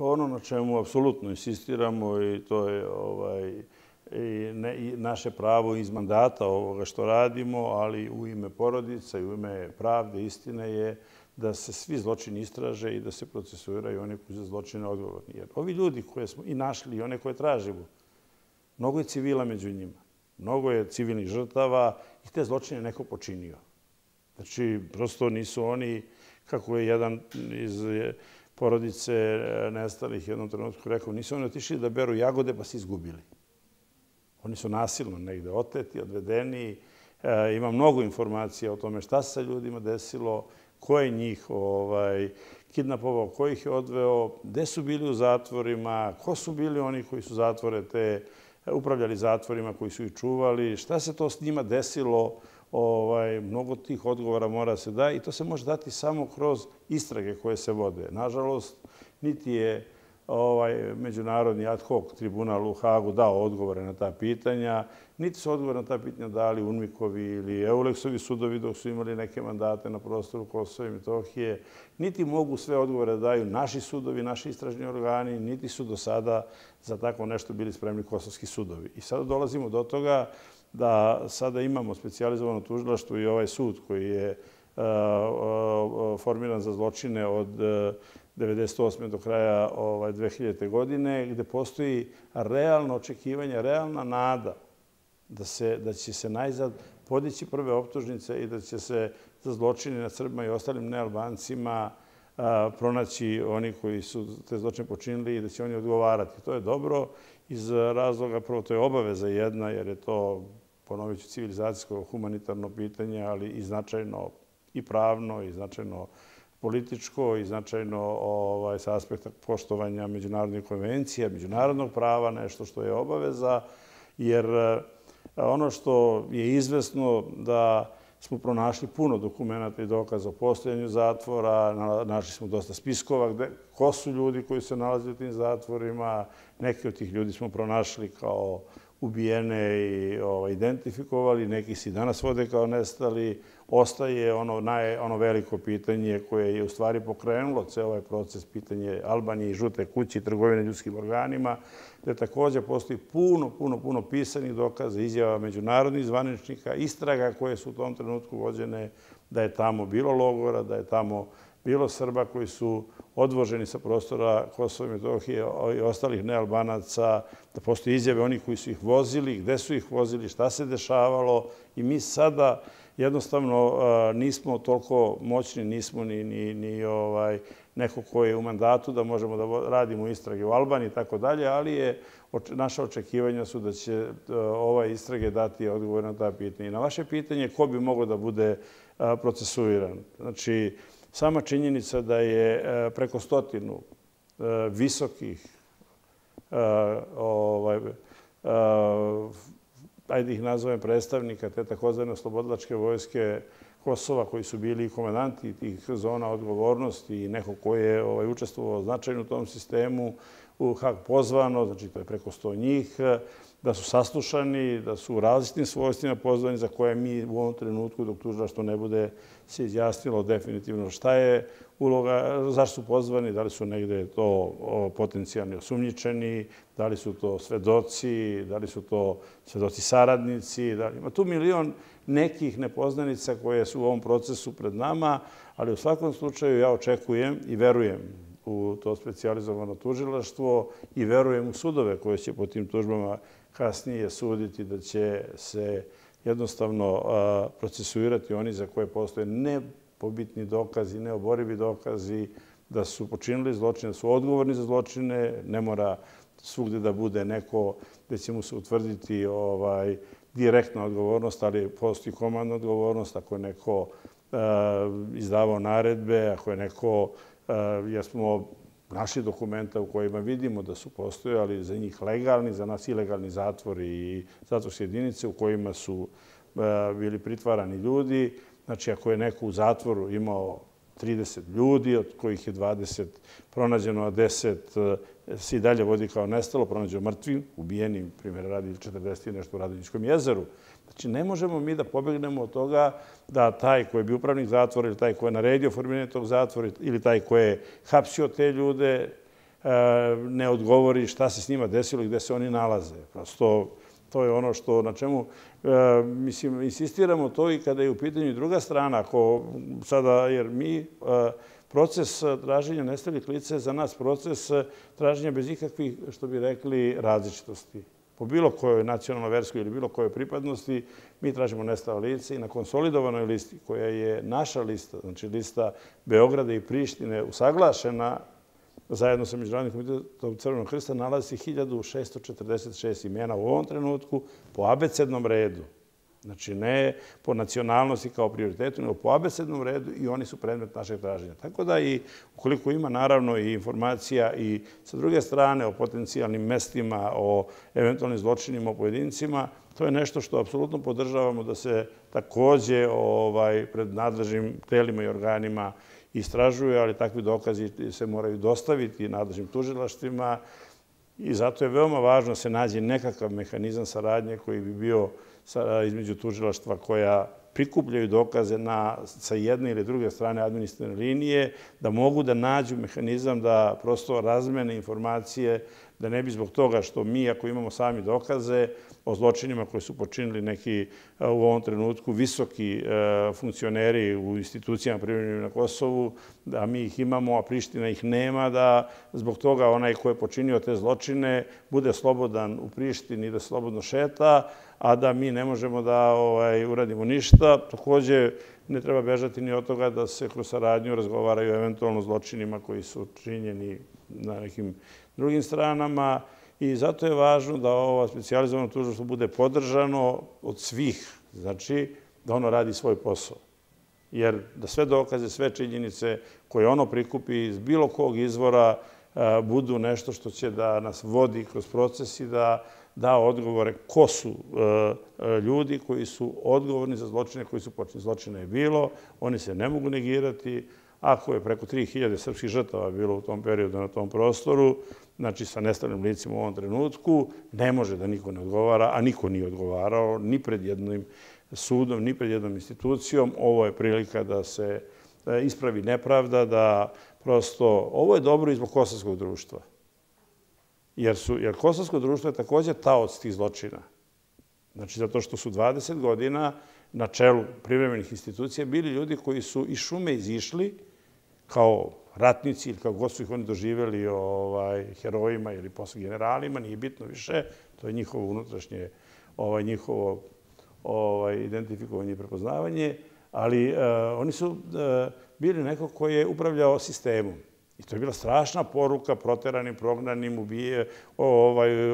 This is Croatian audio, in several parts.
Pa ono na čemu apsolutno insistiramo i to je i naše pravo iz mandata ovoga što radimo, ali u ime porodica i u ime pravde, istine je da se svi zločini istraže i da se procesuiraju oni koji su za zločine odgovorni. Jer ovi ljudi koje smo i našli i one koje tražimo, mnogo je civila među njima, mnogo je civilnih žrtava i te zločine neko počinio. Znači, prosto nisu oni, kako je jedan iz porodice nestalih jednom trenutku rekao, nisu oni otišli da beru jagode pa se izgubili. Oni su nasilno negde oteti, odvedeni. Ima mnogo informacija o tome šta se sa ljudima desilo, ko je njih kidnapovao, ko ih je odveo, gde su bili u zatvorima, ko su bili oni koji su zatvore te upravljali zatvorima, koji su ih čuvali, šta se to s njima desilo. Mnogo tih odgovora mora se da i to se može dati samo kroz istrage koje se vode. Nažalost, niti je međunarodni ad hoc tribunal u Hagu dao odgovore na ta pitanja, niti su odgovore na ta pitanja dali UNMIK-ovi ili EULEX-ovi sudovi dok su imali neke mandate na prostoru Kosova i Metohije, niti mogu sve odgovore da daju naši sudovi, naši istražni organi, niti su do sada za tako nešto bili spremni kosovski sudovi. I sada dolazimo do toga da sada imamo specijalizovano tužilaštvo i ovaj sud koji je formiran za zločine od 1998. do kraja 2000. godine, gde postoji realno očekivanje, realna nada da će se najzad podići prve optužnice i da će se za zločine nad Srbima i ostalim nealbancima pronaći oni koji su te zločine počinili i da će oni odgovarati. To je dobro iz razloga, prvo to je obaveza jedna, jer je to, ponovit ću, civilizacijsko, humanitarno pitanje, ali i značajno i pravno, i značajno političko, i značajno sa aspekta poštovanja međunarodnih konvencija, međunarodnog prava, nešto što je obaveza, jer ono što je izvesno da smo pronašli puno dokumenta i dokaza o postojanju zatvora, našli smo dosta spiskova ko su ljudi koji se nalaze u tim zatvorima, neki od tih ljudi smo pronašli kao ubijene i identifikovali, neki se i danas vode kao nestali. Ostaje ono veliko pitanje koje je u stvari pokrenulo ceo ovaj proces, pitanje Albanije i žute kuće i trgovine ljudskim organima, gde također postoji puno pisanih dokaza, izjava međunarodnih zvaničnika, istraga koje su u tom trenutku vođene, da je tamo bilo logora, da je tamo bilo Srba koji su odvoženi sa prostora Kosova i Metohije i ostalih nealbanaca, da postoje izjave onih koji su ih vozili, gde su ih vozili, šta se dešavalo i mi sada jednostavno nismo toliko moćni, nismo ni neko ko je u mandatu da možemo da radimo istrage u Albaniji i tako dalje, ali naša očekivanja su da će ove istrage dati odgovor na ta pitanja. I na vaše pitanje ko bi mogao da bude procesuiran. Znači, sama činjenica da je preko 100 visokih, ajde ih nazovem predstavnika te takozvane oslobodilačke vojske Kosova koji su bili komandanti tih zona odgovornosti i neko ko je učestvovao značajno u tom sistemu, u Hag pozvano, znači to je preko 100 njih, da su saslušani, da su u različitim svojstvima pozvani za koje mi u ovom trenutku, dok tužilaštvo ne bude se izjasnilo definitivno šta je uloga, zašto su pozvani, da li su negde to potencijalni osumnjičeni, da li su to svedoci, da li su to svedoci saradnici, ima tu milion nekih nepoznanica koje su u ovom procesu pred nama, ali u svakom slučaju ja očekujem i verujem u to specijalizovano tužilaštvo i verujem u sudove koje će po tim tužbama kasnije suditi da će se jednostavno procesuirati oni za koje postoje nepobitni dokazi, neoborivi dokazi da su počinili zločine, da su odgovorni za zločine. Ne mora svugde da bude neko gde će mu se utvrditi direktna odgovornost, ali postoji komandna odgovornost ako je neko izdavao naredbe, ako je neko, jer smo našli dokumenta u kojima vidimo da su postojali za njih legalni, za nas ilegalni zatvori i zatvorske jedinice u kojima su bili pritvarani ljudi. Znači, ako je neko u zatvoru imao 30 ljudi, od kojih je 20 pronađeno, a 10 se i dalje vodi kao nestalo, pronađeno mrtvim, ubijenim, primjer radi 40 i nešto u Radonjičkom jezeru. Znači, ne možemo mi da pobegnemo od toga da taj koji je bio upravnik zatvora ili taj koji je naredio formiranje tog zatvora ili taj koji je hapsio te ljude, ne odgovori šta se s njima desilo i gde se oni nalaze. Prosto, to je ono što, na čemu, mislim, insistiramo to i kada je u pitanju druga strana, ako sada, jer mi proces traženja nestalih lica je za nas proces traženja bez ikakvih, što bi rekli, različitosti. Po bilo kojoj nacionalnoj, verskoj ili bilo kojoj pripadnosti, mi tražimo nestala lica i na konsolidovanoj listi, koja je naša lista, znači lista Beograda i Prištine, usaglašena zajedno sa Međunarodnim komitetom Crvenog krsta, nalazi se 1646 imena u ovom trenutku po abecednom redu. Znači, ne po nacionalnosti kao prioritetu, nego po abecednom redu i oni su predmet našeg traženja. Tako da i ukoliko ima naravno i informacija i sa druge strane o potencijalnim mestima, o eventualnim zločinima, o pojedincima, to je nešto što apsolutno podržavamo da se takođe pred nadležnim telima i organima istražuju, ali takvi dokazi se moraju dostaviti nadležnim tužilaštvima i zato je veoma važno da se nađe nekakav mehanizam saradnje koji bi bio između tužilaštva koja prikupljaju dokaze sa jedne ili druge strane administrativne linije, da mogu da nađu mehanizam da prosto razmene informacije, da ne bi zbog toga što mi, ako imamo sami dokaze o zločinima koje su počinili neki u ovom trenutku visoki funkcioneri u institucijama privremenim na Kosovu, da mi ih imamo, a Priština ih nema, da zbog toga onaj ko je počinio te zločine bude slobodan u Prištini, da slobodno šeta, a da mi ne možemo da uradimo ništa. Takođe, ne treba bežati ni od toga da se kroz saradnju razgovaraju eventualno zločinima koji su činjeni na nekim drugim stranama i zato je važno da ovo specijalizovano tužilaštvo bude podržano od svih, znači da ono radi svoj posao. Jer da sve dokaze, sve činjenice koje ono prikupi iz bilo kog izvora budu nešto što će da nas vodi kroz proces i da odgovore ko su ljudi koji su odgovorni za zločine koji su počinili. Zločina je bilo, oni se ne mogu negirati. Ako je preko 3000 srpskih žrtava bilo u tom periodu na tom prostoru, znači sa nestalim licima u ovom trenutku, ne može da niko ne odgovara, a niko nije odgovarao ni pred jednim sudom, ni pred jednom institucijom. Ovo je prilika da se ispravi nepravda, da prosto, ovo je dobro i zbog kosovskog društva. Jer kosovsko društvo je takođe taoc tih zločina. Znači, zato što su 20 godina na čelu privremenih institucija bili ljudi koji su iz šume izišli kao ratnici ili kao god su ih oni doživjeli herojima ili posle generalima, nije bitno više, to je njihovo unutrašnje, njihovo identifikovanje i prepoznavanje, ali oni su bili neko koji je upravljao sistemom. I to je bila strašna poruka proteranim, prognanim,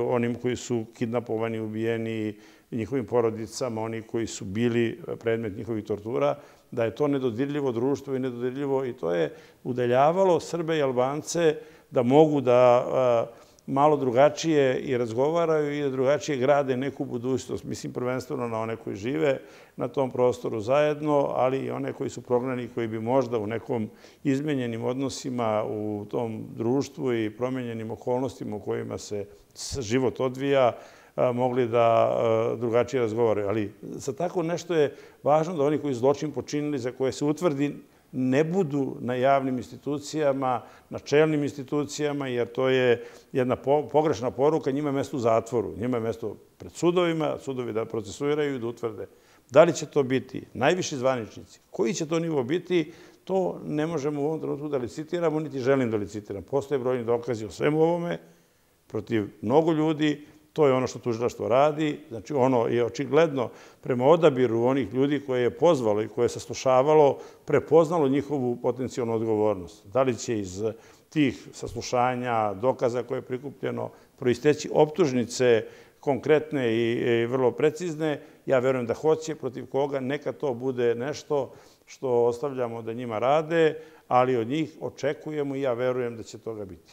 onim koji su kidnapovani, ubijeni, njihovim porodicama, oni koji su bili predmet njihovih tortura, da je to nedodirljivo društvo i nedodirljivo i to je udaljavalo Srbe i Albance da mogu da malo drugačije i razgovaraju i da drugačije grade neku budućnost. Mislim prvenstveno na one koji žive na tom prostoru zajedno, ali i one koji su prognani, koji bi možda u nekom izmenjenim odnosima u tom društvu i promenjenim okolnostima u kojima se život odvija, mogli da drugačije razgovaraju. Ali za tako nešto je važno da oni koji zločin počinili, za koje se utvrdi, ne budu na javnim institucijama, na čelnim institucijama, jer to je jedna pogrešna poruka. Njima je mesto u zatvoru, njima je mesto pred sudovima, sudovi da procesuiraju i da utvrde. Da li će to biti najviši zvaničnici? Koji će to nivo biti? To ne možemo u ovom trenutku da licitiramo, niti želim da licitiram. Postoje brojni dokazi o svemu ovome protiv mnogo ljudi. To je ono što tužilaštvo radi. Znači, ono je očigledno prema odabiru onih ljudi koje je pozvalo i koje je saslušavalo, prepoznalo njihovu potencijalnu odgovornost. Da li će iz tih saslušanja, dokaza koje je prikupljeno, proisteći optužnice konkretne i vrlo precizne? Ja verujem da hoće, protiv koga. Neka to bude nešto što ostavljamo da njima rade, ali od njih očekujemo i ja verujem da će toga biti.